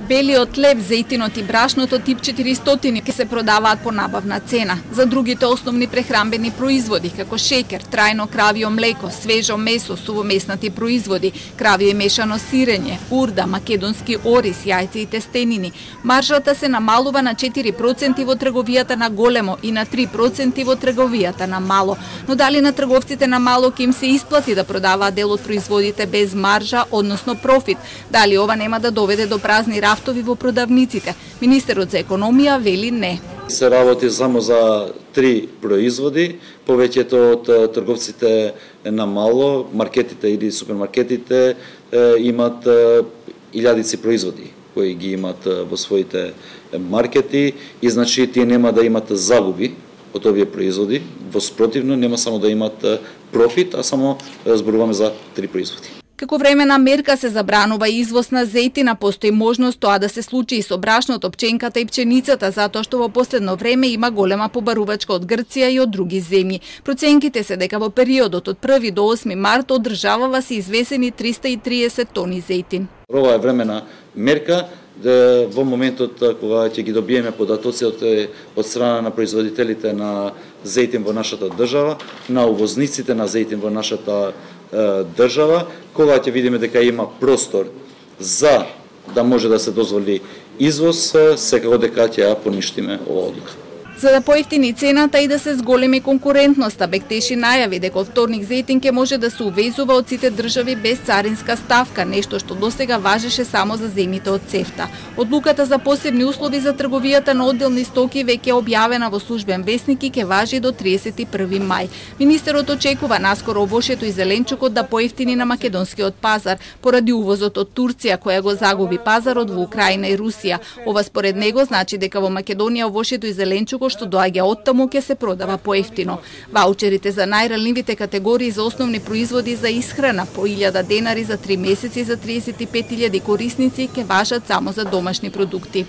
Белиот леб, зејтинот и брашното тип 400 ќе се продаваат по набавна цена. За другите основни прехранбени производи, како шеќер, трајно кравио млеко, свежо месо, сувомеснати производи, кравио и мешано сирење, урда, македонски ориз, јајци и тестенини, маржата се намалува на 4% во трговијата на големо и на 3% во трговијата на мало. Но дали на трговците на мало ќе им се исплати да продаваат дел од производите без маржа, односно профит? Дали ова нема да доведе до празни рафтови во продавниците? Министерот за економија вели не. Се работи само за 3 производи, повеќето од трговците на мало, маркетите или супермаркетите имат илјадици производи кои ги имат во своите маркети и значи тие нема да имат загуби од овие производи, во спротивно нема само да имат профит, а само зборуваме за 3 производи. Како времена мерка се забранува извоз на зејтина, постои можност тоа да се случи и со брашното, пченката и пченицата, затоа што во последно време има голема побарувачка од Грција и од други земји. Проценките се дека во периодот од 1 до 8 март од државава се извесени 330 тони зејтин. Ова е времена мерка, во моментот кога ќе ги добиеме податоци од страна на производителите на зејтин во нашата држава, на увозниците на зејтин во нашата држава, кога ќе видиме дека има простор за да може да се дозволи извоз, секако дека ќе ја поништиме оваа одлука. За да поевтини цената и да се зголеми конкурентноста, Бектеши најави дека од вторник зејтин ќе може да се увезува од сите држави без царинска ставка, нешто што досега важеше само за земјите од ЦЕФТА. Одлуката за посебни услови за трговијата на одделни стоки веќе е објавена во службен весник и ќе важи до 31 мај. Министерот очекува наскоро овошето и зеленчукот да поевтини на македонскиот пазар поради увозот од Турција, која го загуби пазарот во Украина и Русија. Ова според него значи дека во Македонија овошето и зеленчукот што доаѓа оттаму ќе се продава поевтино. Ваучерите за најранливите категории за основни производи за исхрана по 1000 денари за 3 месеци за 35.000 корисници ќе важат само за домашни продукти.